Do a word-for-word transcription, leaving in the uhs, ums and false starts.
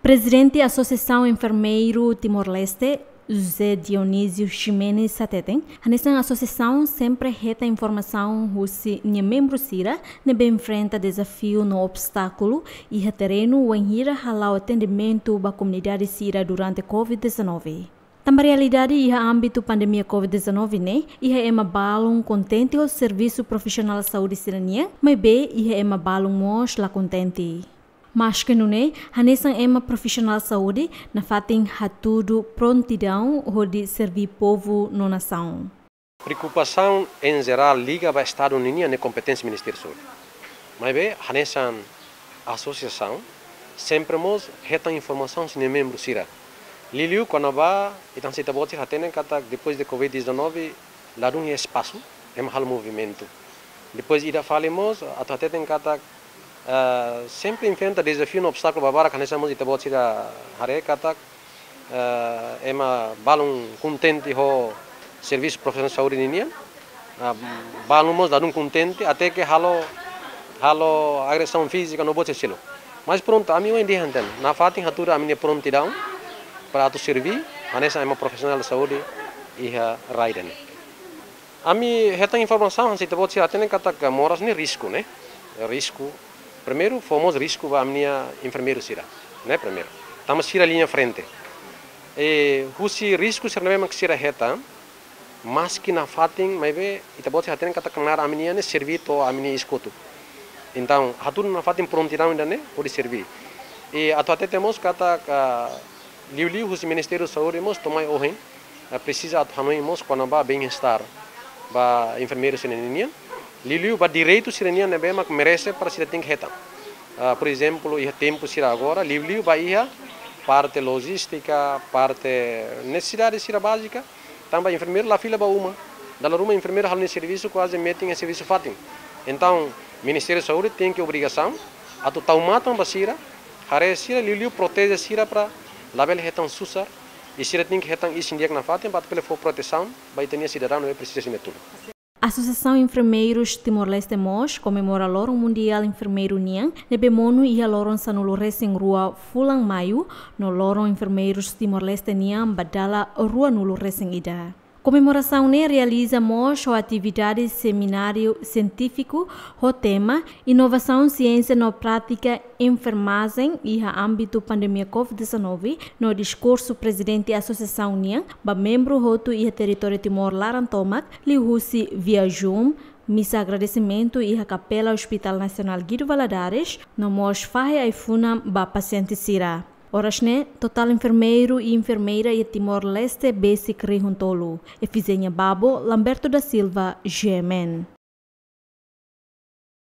Prezidente Asosiasaun Enfermeiru Timor-Leste, José Dionísio Ximenes hateten, hanesan asosiasaun sempre hetan informasaun husi nia membru sira ne'ebé enfrenta dezafiu no obstákulu iha terrenu wainhira hala'o atendimentu ba komunidade sira durante covid dezanove. Tanba realidade iha ámbitu pandemia covid dezanove ne'e, iha ema balun kontente ho servisu profisionál saúde sira-nian, maibé iha ema balun mós la kontente. Maske nune'e, hanesan ema profisionál saúde, nafatin hatudu prontidaun hodi serví povu no nasaun. Preokupasaun em geral liga ba Estadu ninian ne'e kompeténsia Ministériu Saúde. Maibé, hanesan asosiasaun, sempre mós hetan informasaun husi nia membru sira. Liuliu kona-ba, ita-nia ita-boot sira hatene katak depois de covid dezanove, ladún iha espasu, ema halo movimentu. Depois ida fali mós, atu hateten katak, ah, sempre enfrenta dezafiu no obstákulu barak, hanesan mós ita-boot sira haree katak, ah, ema balun kontente ho servisu profisionál saúde ninian, ah, balun mós ladún kontente, até ke halo, halo agresaun fízika no buat seluk. Mas prontu, ami ohin dehan tan, nafatin hatudu ami-nia prontidaun para atu serví, hanesan ema profisionál saúde iha rai ida-ne'e. Ami hetan informasaun, hanesan ita-boot sira hatene katak moras ne'e risku, ne'e? Risku. Primeiru, fó mós risku ba ami-nia enfermeiru sira, ne'e? Primeiru. Tanba sira liña frente. E husi risku sira ne'ebé mak sira hetan, maski nafatin, maibé ita-boot sira hatene katak knaar ami-nian ne'e serví to'o ami-nia iis kotuk. Entaun, hatudu nafatin prontidaun ida-ne'e hodi serví. E atu hatete mós katak liuliu husi Ministériu Saúde mós to'o mai ohin, eh, presiza atu hanoin mós kona-ba bem-estar ba enfermeiru sira-ninian, liuliu ba direitu sira-nian ne'ebé mak merese para sira tenke hetan. Ah, por ezemplu, iha tempu sira agora, liuliu ba iha parte lojístika, parte nesesidade sira bázika, tanba enfermeiru la fila ba uma. Dala ruma enfermeiru halo nia servisu kuaze metin iha servisu fatin. Entaun, Ministériu Saúde tenke obrigasaun atu tau matan ba sira, haree sira, liuliu proteje sira para labele hetan susar, i sira tenke hetan isin di'ak nafatin para atu bele fó protesaun ba ita-nia sidadaun ne'ebé presiza sira-nia tulun. Asosiasaun Enfermeirus Timor-Leste mós komemora Loron Mundiál Enfermeiru nian, ne'ebé monu iha loron sanulu-resin-rua fulan Maiu, no Loron Enfermeirus Timor-Leste nian ba dala ruanulu-resin-ida. Komemorasaun ne'e realiza mós ho atividade semináriu sientífiku ho tema Inovasaun Siénsia no Prátika Enfermajen iha Ámbitu Pandemia covid dezanove, no diskursu Prezidente Asosiasaun nian ba membru hotu iha territóriu Timor laran tomak, liuhusi via Zoom, misa agradesimentu iha Kapela Hospital Nasionál Guido Valadares, no mós fahe ai-funan ba pasiente sira. Oras ne'e, totál enfermeiru i enfermeira iha Timor-Leste besik rihun tolu. Efizénia Babo, Lamberto da Silva, G M N.